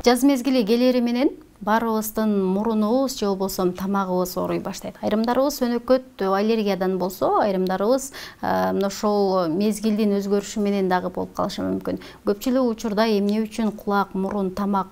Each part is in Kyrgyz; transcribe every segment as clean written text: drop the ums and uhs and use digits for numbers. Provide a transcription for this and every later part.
Жаз мезгили келери менен баарыбыздын мурунубуз же болбосо тамагыбыз ооруй баштайт. Айрымдарыбыз өнөкөт аллергиядан болсо, айрымдарыбыз мына ошол мезгилдин өзгөрүшү менен дагы болуп калышы мүмкүн. Көпчүлүк учурда эмне үчүн кулак, мурун, тамак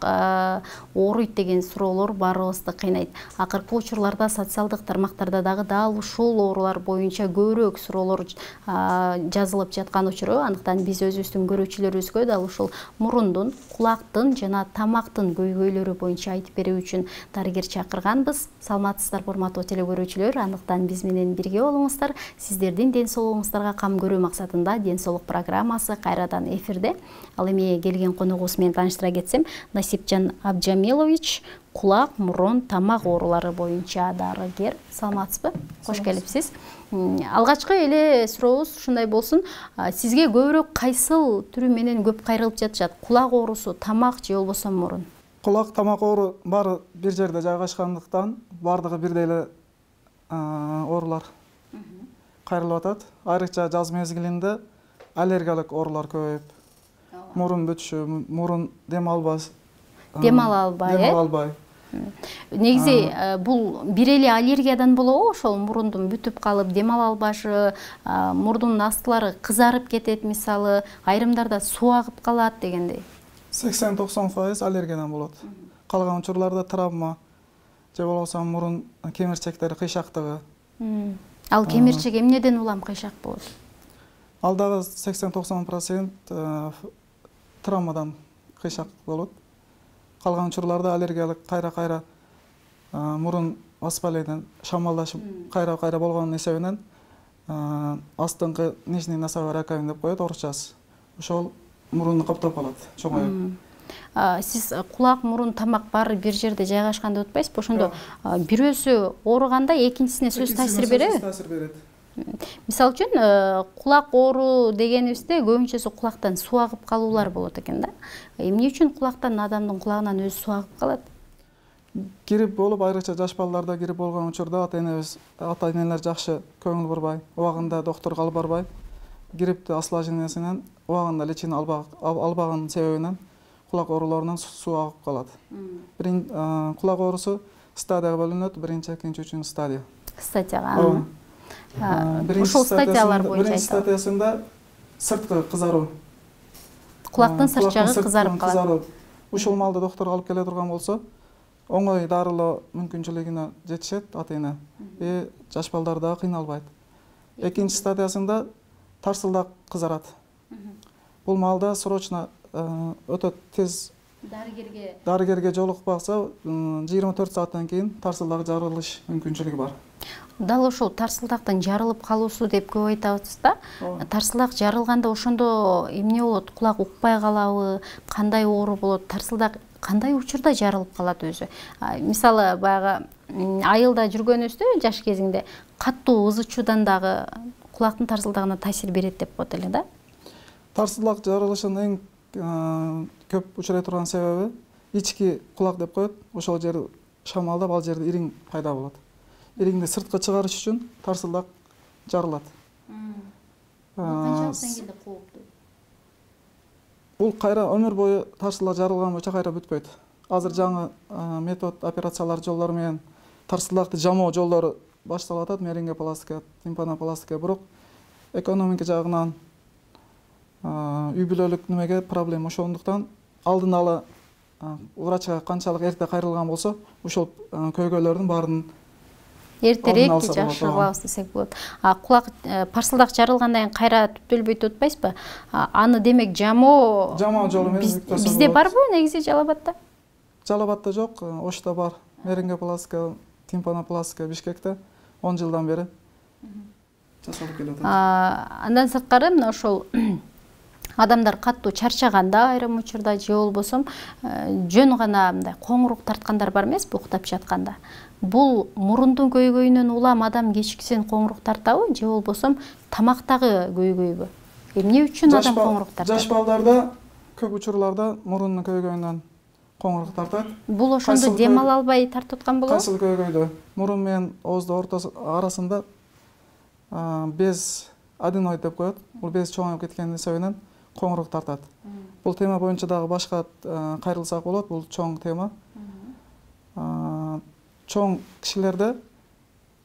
ооруйт деген суроолор баарыбызды кыйнайт. Акыркы учурларда социалдык тармактарда дагы дал ушул оорулар боюнча көбүрөөк суроолор жазылып жаткан учуру, андыктан биз өзүбүздүн көрүүчүлөрүбүзгө дал ушул мурундун, кулактын жана тамактын көйгөйлөрү боюнча айтып берүү үчүн дарыгер чакырганбыз. Саламатсыздарбы урматтуу теле көрүүчүлөр, андыктан биз менен бирге болуңуздар. Сиздердин ден соолугуңуздарга кам көрүү максатында ден соолук программасы кайрадан эфирде. Ал эми келген коногубуз менен тааныштыра кетсем, Насипжан Абджамилович, кулак, мурун, тамак оорулары боюнча дарыгер. Саламатсызбы? Кош келипсиз. Алгачкы эле сурообуз ушундай болсун. Сизге көбүрөөк кайсыл түрү менен көп кайрылып жатышат? Кулак оорусу, тамак же болбосо мурун? Кулак, тамак оору баары бир жерде жайгашкандыктан баардыгы бирдей эле оорулар кайрылып атат. Айрыкча жаз мезгилинде аллергиялык оорулар көбөйүп, мурун бүтүшү, мурун дем ала албай. Негизи бул бир эле аллергиядан болобу? Ошол мурундун бүтүп калып, дем ала албашы, мурдун астылары кызарып кетет мисалы, айрымдарда суу агып калат дегендей. 80-90% аллергиядан болот. Калган учурларда травма же болбосо мурун кемирчектери кыйшактыгы. Ал кемирчек эмнеден улам кыйшак болот? Ал дагы 80-90% травмадан кыйшак болот. Калган учурларда аллергиялык кайра-кайра мурун воспаление, шамалдашып кайра-кайра болгон эсебинен астыңкы нижний носовой раковина деп коет орусчасы. Ошол мурунду каптап калат, чоңоюп. Сиз кулак, мурун, тамак баары бир жерде жайгашкан деп атпайсызбы? Ошондо бирөөсү ооруганда экинчисине сөз таасир береби? Таасир берет. Мисалы үчүн кулак оору дегенибизде көбүнчөсү кулактан суу агып калуулар болот экен да. Эмне үчүн кулактан, адамдын кулагынан өзү суу агып калат? Грипп болуп, айрыкча жаш балдарда грипп болгон учурда ата-энелер жакшы көңүл бурбай, убагында доктурга алып барбай, грипптин осложнениясынан убагында лечение албаган себебинен кулак ооруларынан суу агып калат. Кулак оорусу стадияга бөлүнөт, биринчи, экинчи, үчүнчү стадия. Стадияга. Ушул стадиялар боюнча биринчи стадиясында сырткы кызаруу. Кулактын сырт жагы кызарып калат. Ушул маалда доктурга алып келе турган болсо, оңой дарылоо мүмкүнчүлүгүнө жетишет ата-эне. Жаш балдар дагы кыйналбайт. Экинчи стадиясында тарсылдак кызарат. Бул маалда срочно өтө тез дарыгерге жолукпаса 24 сааттан кийин тарсылдак жарылыш мүмкүнчүлүгү бар. Дал ошол тарсылдактын жарылып калуусу деп көп айтабыз да. Тарсылдак жарылганда ошондо эмне болот? Кулак укпай калабы? Кандай оору болот? Тарсылдак кандай учурда жарылып калат өзү? Мисалы баягы айылда жүргөнүбүздө жаш кезинде каттуу ыз ычуудан дагы кулактын тарсылдагына таасир берет деп коет эле да. Тарсылдак жарылышынын эң көп учурай турган себеби ички кулак деп коет. Ошол жер шамалдап, ал жерде ириң пайда болот. Ириңди сыртка чыгарыш үчүн тарсылдак жарылат. Канчалык деңгээлде кооптуу? Бул кайра өмүр бою тарсылдак жарылган боюнча кайра бүтпөйт. Азыр жаңы метод, операциялар жолдору менен тарсылдакты жамоо жолдору башталып атат, мерингопластика, тимпанопластика, бирок экономика жагынан үй бүлөлүк немеге проблема ошондуктан алдын ала врачка канчалык эрте кайрылган болсо, ушул көйгөйлөрдүн баарын эртерээк жакшы кылабыз десек болот. Кулак тарсылдак жарылгандан кийин кайра түптөлбөйт деп атпайсызбы? Аны демек жамоо жолу менен бизде барбы негизи Жалал Абадта? Жалал Абадта жок, Ошто бар. Мерингопластика, тимпанопластика Бишкекте 10 жылдан бери жасалып келип атат. Андан сырткары мына ошол адамдар каттуу чарчаганда айрым учурда же болбосо жөн гана мындай коңурук тарткандар бар эмеспи уктап жатканда. Бул мурундун көйгөйүнөн улам адам кечкисин коңурук тартабы же болбосо тамактагы көйгөйбү? Эмне үчүн адам коңурук тартат? Жаш балдарда көп учурларда мурундун көйгөйүнөн коңурук тартат. Бул ошондо дем ала албай тартып аткан болобу? Кайсыл көйгөйдө мурун менен ооздун ортосу арасында без аденоид деп коет. Бул без чоңоюп кеткен себебинен коңурук тартат. Бул тема боюнча дагы башка кайрылсак болот. Бул чоң тема. Чоң кишилерде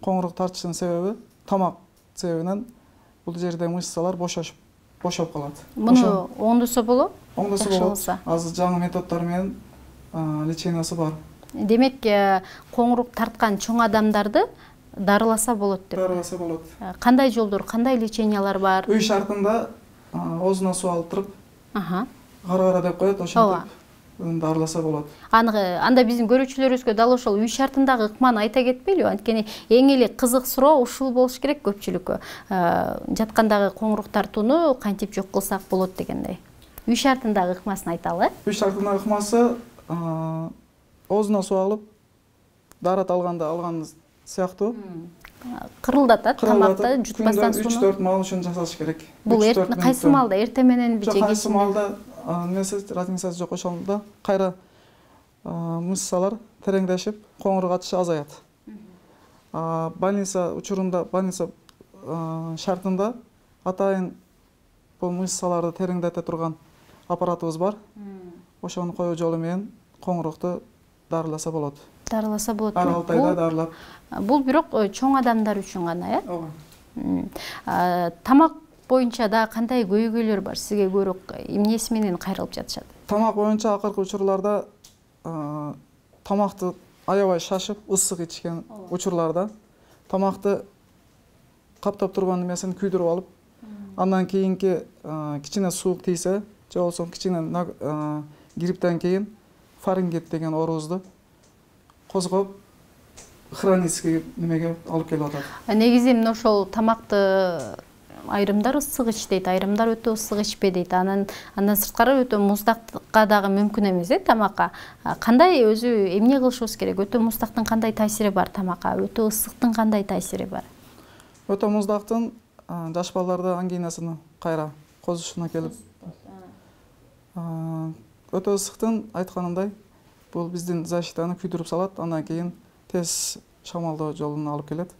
коңурук тартышынын себеби тамак себебинен бул жерде мышцалар бошоп калат. Муну оңдосо болобу? Оңдосо болот. Азыр жаңы методдор менен лечениясы бар. Демек, коңурук тарткан чоң адамдарды дарыласа болот деп. Дарыласа болот. Кандай жолдор, кандай лечениялар бар? Үй шартында оозуна суу алып туруп, кара деп коет, ошентип дарыласа болот. Анда биздин көрүүчүлөрүбүзгө дал ошол үй шартындагы ыкманы айта кетпейлиби? Анткени эң эле кызык суроо ушул болуш керек көпчүлүккө. Жаткандагы коңурук тартууну кантип жок кылсак болот дегендей. Үй шартындагы ыкмасын айталы. Үй шартындагы ыкмасы оозуна суу алып, дарат алган сыяктуу кырылдатат тамакты жутпастан сууну. 3-4 маал үчүн жасаш керек. Бул кайсы маалда, эртең мененби же кечинби? Кайсы маалда разницасы жок, ошондо кайра мышцалар тереңдешип, коңурук атышы азаят. Больница учурунда, больница шартында атайын бул мышцаларды тереңдете турган аппаратыбыз бар. Ошону коюу жолу менен коңурукту дарыласа болот. Дарыласа болот. Ар 6 айда дарылап. Бул бирок чоң адамдар үчүн гана, Ооба. Тамак боюнча да кандай көйгөйлөр бар? Сизге көрөк эмнеси менен кайрылып жатышат? Тамак боюнча акыркы учурларда тамакты аябай шашып, ысык ичкен учурларда тамакты каптап турган эмесин күйдүрүп алып, андан кийинки кичине суук тийсе, же болбосо кичине грипптен кийин фарингит деген оорубузду козгоп, хронический немеге алып келип атат. Негизи мына ошол тамакты айрымдар ысык ичтейт, айрымдар өтө ысык ичпе дейт. Андан сырткары өтө муздакка дагы мүмкүн эмес тамакка. Кандай өзү эмне кылышыбыз керек? Өтө муздактын кандай таасири бар тамакка? Өтө ысыктын кандай таасири бар? Өтө муздактын жаш балдарда ангинасына кайра козушуна келип. Өтө ысыктын айтканымдай бул биздин защитаны күйдүрүп салат, андан кийин тез шамалдоо жолуна алып келет.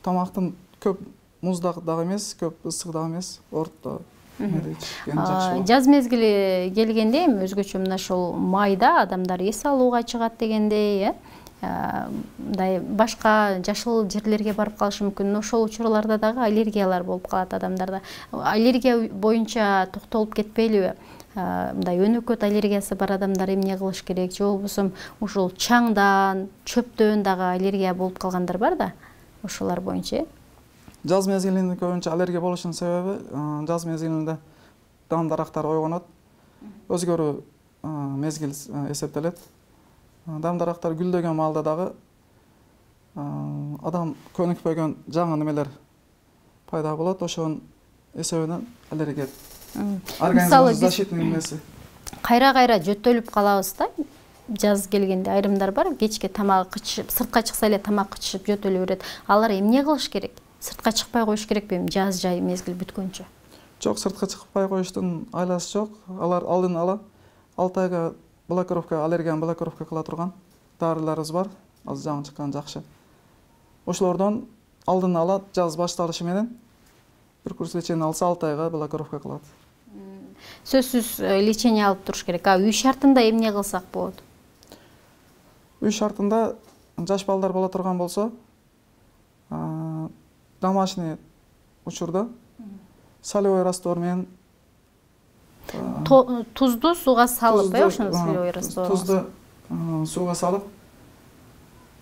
Тамактын көп муздак дагы эмес, көп ысык дагы эмес, орто ичкен жакшы. Жаз мезгили келгенде эми өзгөчө мына ошол майда адамдар эс алууга чыгат дегендей, мындай башка жашыл жерлерге барып калышы мүмкүн. Ошол учурларда дагы аллергиялар болуп калат адамдарда. Аллергия боюнча токтолуп кетпейлиби? Мындай өнөкөт аллергиясы бар адамдар эмне кылыш керек? Же болбосо ушул чаңдан, чөптөн дагы аллергия болуп калгандар бар да. Ошолар боюнча. Жаз мезгилинде көбүнчө аллергия болушунун себеби жаз мезгилинде дан дарактар ойгонот. Өзгөрүү мезгил эсептелет. Дан дарактар гүлдөгөн маалда дагы адам көнүкпөгөн жаңы немелер пайда болот. Ошонун эсебинен аллергия. Организмдин защитный немеси. Кайра-кайра жөтөлүп калабыз да. Жаз келгенде айрымдар бар, кечке тамак кычып, сыртка чыкса эле тамак кычып жөтөлө берет. Алар эмне кылыш керек? Сыртка чыкпай коюш керекпи жаз жай мезгил бүткөнчө? Жок, сыртка чыкпай коюштун айласы жок. Алар алдын ала 6 айга блокировка, аллергияны блокировка кыла турган дарыларыбыз бар. Азыр жаңы чыккан жакшы. Ошолордон алдын ала жаз башталышы менен бир курс лечение алса 6 айга блокировка кылат. Сөзсүз лечение алып туруш керек. Үй шартында эмне кылсак болот? Үй шартында жаш балдар боло турган болсо, домашний учурда солевой раствор менен тузду сууга салып, ошону солевой раствор. Тузду сууга салып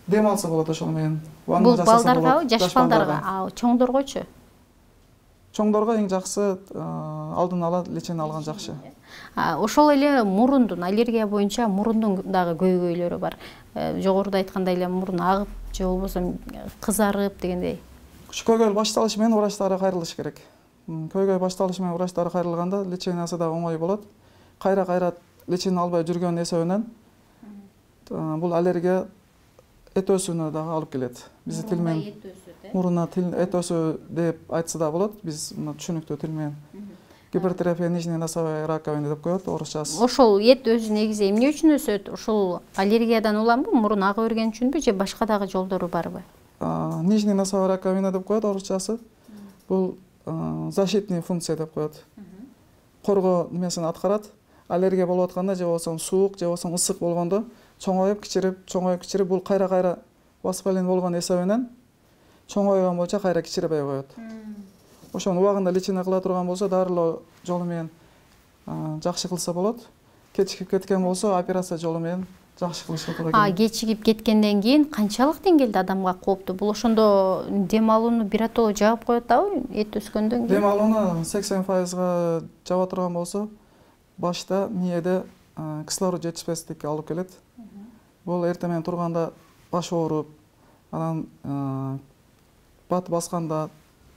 дем алса болот ошол менен. Бул балдаргабы, жаш балдарга? Чоңдоргочу? Чоңдорго эң жакшы алдын ала лечение алган жакшы. Ошол эле мурундун аллергия боюнча мурундун дагы көйгөйлөрү бар. Жогоруда айткандай эле мурун агып, же болбосо кызарып дегендей. Көйгөй башталышы менен врачтары кайрылыш керек. Көйгөй башталышы менен врачтары кайрылганда лечениясы да оңой болот. Кайра-кайра лечение албай жүргөн эсебинен бул аллергия эт өсүүнө дагы алып келет. Биздин тил менен мурунда эт өсүү деп айтса да болот. Биз мына түшүнүктүү тил менен гипертрофия нижней носовой раковины деп коет орусчасы. Ошол эт өзү негизи эмне үчүн өсөт? Ошол аллергиядан уламбы, мурун ага берген үчүнбү же башка дагы жолдору барбы? Нижний носовой раковина деп коет орусчасы. Бул защитный функция деп коет. Коргоо немесин аткарат. Аллергия болуп атканда же болбосо суук же болбосо ысык болгондо чоңоюп кичирип бул кайра воспаление болгон эсебинен чоңойгон боюнча кайра кичирбей коет. Ошону убагында лечение кыла турган болсо дарылоо жолу менен жакшы кылса болот. Кечигип кеткен болсо операция жолу менен жакшы кылышат экен. Кечигип кеткенден кийин канчалык деңгээлде адамга кооптуу? Бул ошондо дем алууну биротоло жаап коет атабы? Эт өскөндөн кийин? Дем алууну 80% жаба турган болсо башта мээде кислород жетишпестикке алып келет. Бул эртең менен турганда баш ооруп, анан бат басканда,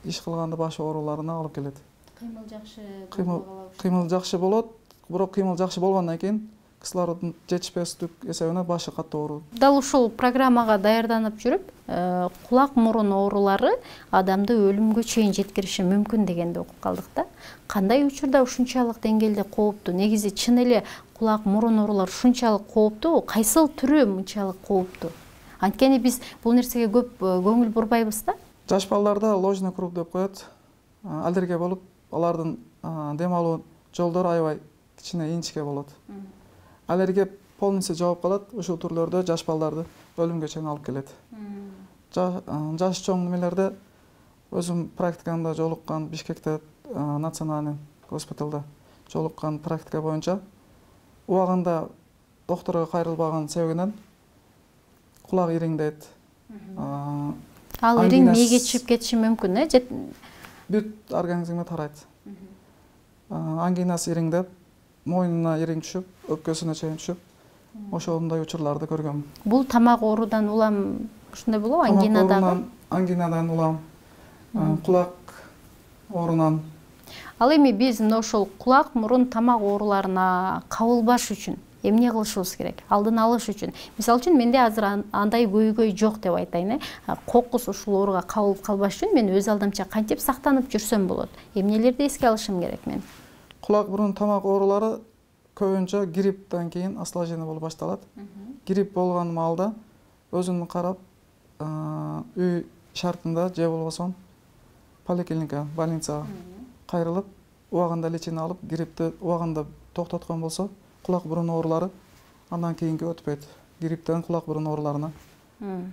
иш кылганда баш ооруларына алып келет. Кыймыл жакшы болот, бирок кыймыл жакшы болгондон кийин кислороддун жетишпестик эсебинен башы катуу ооруйт. Дал ушул программага даярданып жүрүп, кулак мурун оорулары адамды өлүмгө чейин жеткириши мүмкүн дегенди окуп калдык да. Кандай учурда ушунчалык деңгээлде кооптуу? Негизи чын эле кулак мурун оорулар ушунчалык кооптуу? Кайсыл түрү мынчалык кооптуу? Анткени биз бул нерсеге көп көңүл бурбайбыз да. Жаш балдарда ложный круг деп коет. Аллергия болуп, алардын дем алуу жолдору аябай кичине инчике болот. Аллергия полностью жабып калат. Ушул түрлөрдө жаш балдарды өлүмгө чейин алып келет. Жаш чоң немелерде өзүм практикамда жолуккан Бишкекте национальный госпиталда жолуккан практика боюнча убагында докторго кайрылбаган себебинен кулак ириңдейт. Ал ириң мээге чыгып кетиши мүмкүн, бүт организмге тарайт. Ангинасы ириңдеп, мойнуна ириң түшүп, өпкөсүнө чейин түшүп, ошондой учурларды көргөм. Бул тамак оорудан улам ушундай болобу? Ангинадан? Ангинадан улам, кулак оорунан. Ал эми биз мына ошол кулак, мурун, тамак ооруларына кабылбаш үчүн эмне кылышыбыз керек? Алдын алыш үчүн. Мисалы үчүн менде азыр андай көйгөй жок деп айтайын. Кокус ушул ооруга кабылып калбаш үчүн мен өз алдымча кантип сактанып жүрсөм болот? Эмнелерди эске алышым керек мен? Кулак, мурун, тамак оорулары көбүнчө грипптен кийин осложнение болуп башталат. Грипп болгон маалда өзүн карап, үй шартында же болбосо поликлиника, больницага кайрылып, убагында лечение алып, гриппти убагында токтоткон болсо, кулак бурун оорулары андан кийинки өтпөйт. Грипптен кулак бурун ооруларына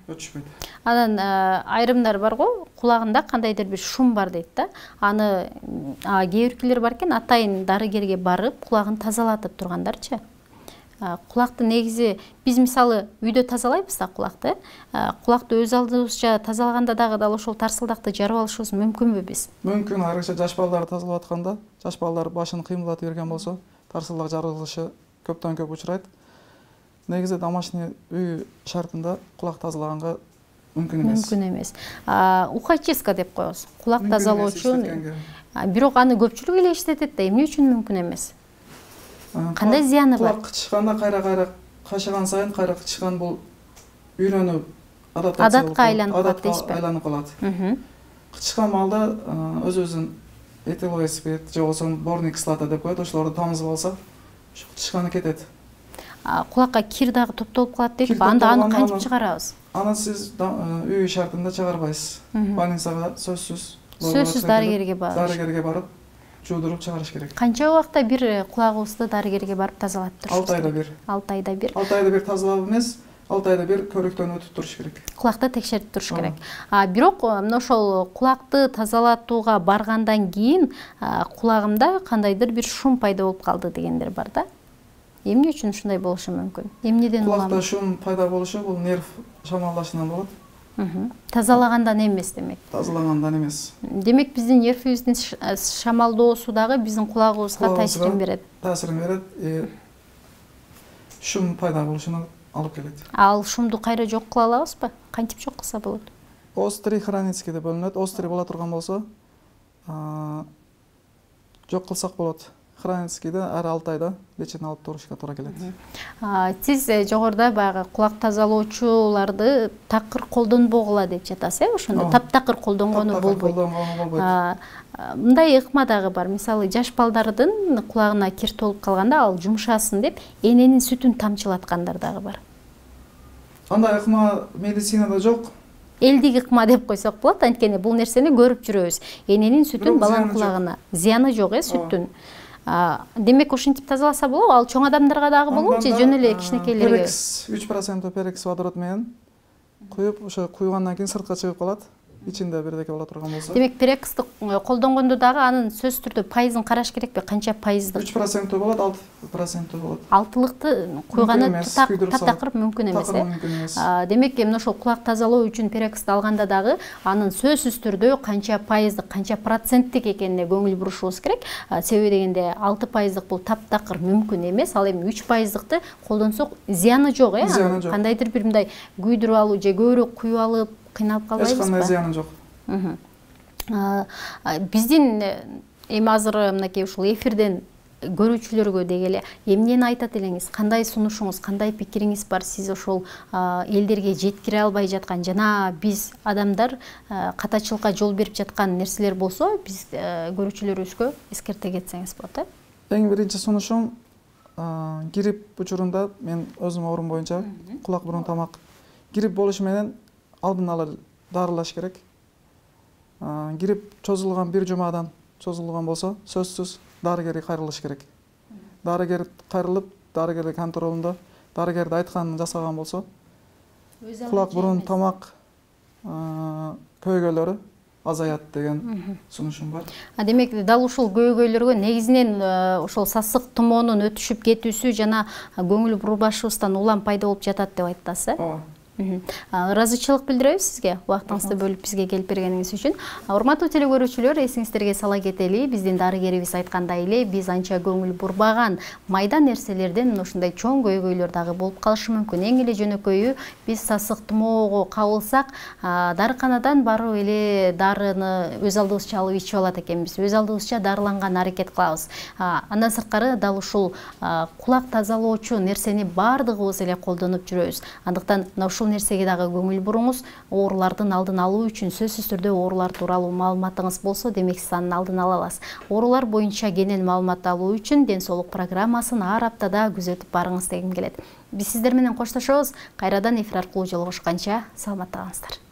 өтүшпөйт. Анан айрымдар бар го, кулагында кандайдыр бир шум бар дейт да. Аны кээ биркилер бар экен, атайын дарыгерге барып, кулагын тазалатып тургандарчы. Кулакты негизи биз мисалы үйдө тазалайбыз да кулакты. Кулакты өз алдыбызча тазалаганда дагы дал ошол тарсылдакты жарып алышыбыз мүмкүнбү биз? Мүмкүн, айрыкча жаш балдар тазалап атканда, жаш балдар башын кыймылдатып берген болсо, тарсылдак жарылышы көптөн көп учурайт. Негизи домашний үй шартында кулак тазалаганга мүмкүн эмес. Мүмкүн эмес. Ухачистка деп коебуз. Кулак тазалоочу. Бирок аны көпчүлүк эле иштетет да, эмне үчүн мүмкүн эмес? Кандай зыяны бар? Кулак кычканда кайра кашыган сайын кайра кычкан бул үйрөнүп, адатка айланып калат дейсизби? Айланып калат. Кычкан маалда өзүбүздүн этиловый спирт же болбосо борный кислота деп коет, ошолорду тамызып алса, кычканы кетет. Кулакка кир дагы топтолуп калат дейт. Анда аны кантип чыгарабыз? Аны сиз үй шартында чыгарбайсыз. Больницага сөзсүз дарыгерге барып жуудуруп чыгарыш керек. Канча убакта бир кулагыбызды дарыгерге барып тазалап турушубуз керек? 6 айда бир. 6 айда бир тазалап эмес, 6 айда бир көрүктөн өтүп туруш керек. Кулакты текшерип туруш керек. Бирок мына ошол кулакты тазалатууга баргандан кийин кулагымда кандайдыр бир шум пайда болуп калды дегендер бар да. Эмне үчүн ушундай болушу мүмкүн? Эмнеден улам? Кулакта шум пайда болушу бул нерв шамалдашынан болот. Тазалагандан эмес демек. Тазалагандан эмес. Демек биздин нервибиздин шамалдоосу дагы биздин кулагыбызга таасирин берет. Таасирин берет. Шум пайда болушуна алып келет. Ал шумду кайра жок кыла алабызбы? Кантип жок кылса болот? Острый, хронический деп бөлүнөт. Острый боло турган болсо, жок кылсак болот. Хроническийде ар 6 айда лечение алып турушка туура келет. Сиз жогоруда баягы кулак тазалоочуларды такыр колдонбогула деп жатасыз, ошондо таптакыр колдонгону болбойт. Мындай ыкма дагы бар. Мисалы, жаш балдардын кулагына кир толуп калганда, ал жумшасын деп эненин сүтүн тамчылаткандар дагы бар. Андай ыкма медицинада жок. элдик ыкма деп койсок болот. Анткени бул нерсени көрүп жүрөбүз. Эненин сүтүн баланын кулагына зыяны жок, сүттүн. Демек ушинтип тазаласа болобу? Ал чоң адамдарга дагы болобу же жөн эле кичинекейлерге? 3% перекс водород менен куюп, ошо куйгандан кийин сыртка чыгып калат. Ичинде бирдеке боло турган болсо. Демек перексти колдонгондо дагы анын сөзсүз түрдө пайызын караш керекпи? Канча пайыздык? 3% болот, 6% болот. Алтылыкты куйганы таптакыр мүмкүн эмес. Демек эмне ошол кулак тазалоо үчүн перексти алганда дагы анын сөзсүз түрдө канча пайыздык, канча проценттик экенине көңүл бурушубуз керек. Себеби дегенде 6% бул таптакыр мүмкүн эмес. Ал эми 3%ды колдонсок зыяны жок, кандайдыр бир мындай күйдүрүп алуу же көбүрөөк куюп алып кыйналып калбайбызбы? Эч кандай зыяны жок. Биздин эми азыр мынакей ушул эфирден көрүүчүлөргө дегеле эмнени айтат элеңиз? Кандай сунушуңуз, кандай пикириңиз бар? Сиз ошол элдерге жеткире албай жаткан жана биз адамдар катачылыкка жол берип жаткан нерселер болсо, биз көрүүчүлөрүбүзгө эскерте кетсеңиз болот, Эң биринчи сунушум грипп учурунда мен өзүм оорум боюнча кулак бурун тамак грипп болушу менен алдын ала дарылаш керек. Грипп чозулган бир жумадан чозулган болсо, сөзсүз дарыгерге кайрылыш керек. Дарыгер кайрылып, дарыгердин контролунда дарыгерди айтканын жасаган болсо, кулак бурун тамак көйгөйлөрү азаят деген сунушум бар. Демек дал ушул көйгөйлөргө негизинен ошол сасык тумоонун өтүшүп кетүүсү жана көңүл бурбашыбыздан улам пайда болуп жатат деп айтасыз, ыраазычылык билдиребиз сизге убактыңызды бөлүп бизге келип бергениңиз үчүн. Урматтуу телекөрүүчүлөр, эсиңиздерге сала кетели, биздин дарыгерибиз айткандай эле, биз анча көңүл бурбаган майда нерселерден ушундай чоң көйгөйлөр дагы болуп калышы мүмкүн. Эң эле жөнөкөйү биз сасык тумоого кабылсак, дарыканадан барып эле дарыны өз алдыбызча алып ичип алат экенбиз. Өз алдыбызча дарыланганга аракет кылабыз. Андан сырткары дал ушул кулак тазалоочу нерсени баардыгыбыз эле колдонуп жүрөбүз. Андыктан ушул нерсеге дагы көңүл буруңуз. Оорулардын алдын алуу үчүн сөзсүз түрдө оорулар тууралуу маалыматыңыз болсо, демек сиз анын алдын ала аласыз. Оорулар боюнча кенен маалымат алуу үчүн Ден соолук программасын ар аптада күзөтүп барыңыз дегим келет. Биз сиздер менен коштошобуз. Кайрадан эфир аркылуу жолугушканча саламатта калыңыздар.